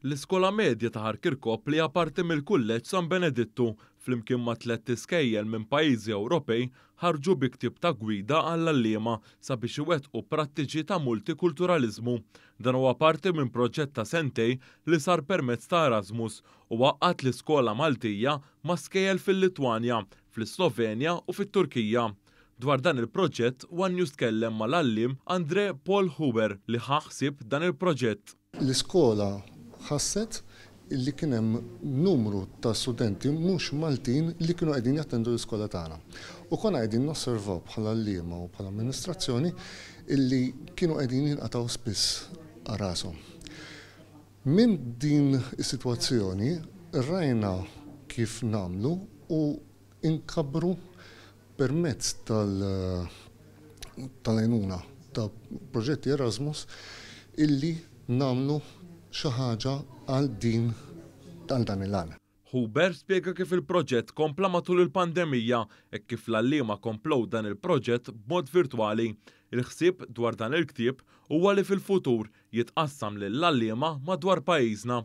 L-Iskola Medja ta' Ħal Kirkop li hija parti mill-Kulleġġ San Benedittu flimkien ma' tlett iskejjel minn pajjiżi Ewropej ħarġu bi ktieb ta' gwida għall-għalliema sabiex iwettqu prattiċi ta' multikulturaliżmu. Dan huwa parti minn proġett ta' sentejn li sar permezz ta' Erasmus u għaqqad l-iskola Maltija ma' skejjel fil-Litwanja, fl-Islovenja u fit-Turkija. Dwar dan il-proġett, one News tkellem mal-għalliem André Paul Huber li ħa ħsieb dan il-proġett. L-iskola ħasset li kien hemm numru ta' studenti mhux Maltin li kienu qegħdin jattendu l-iskola tagħna. U konna qegħdin nosservaw bħala għalliema u bħala amministrazzjoni illi kienu qegħdin jinqatgħu spiss rashom. Minn din is-sitwazzjoni rajna kif nagħmlu u inkabbru permezz tal-għajnuna ta' proġetti Erasmus illi nagħmlu xi ħaġa għal din għal dan il-għan. Huber spjega kif il-proġett kompla matul il-pandemija e kif l-għalliema komplow dan il-proġett b'mod virtwali. Il-ħsieb dwar dan il-ktieb huwa li fil-futur jitqassam lill-għalliema madwar pajjiżna.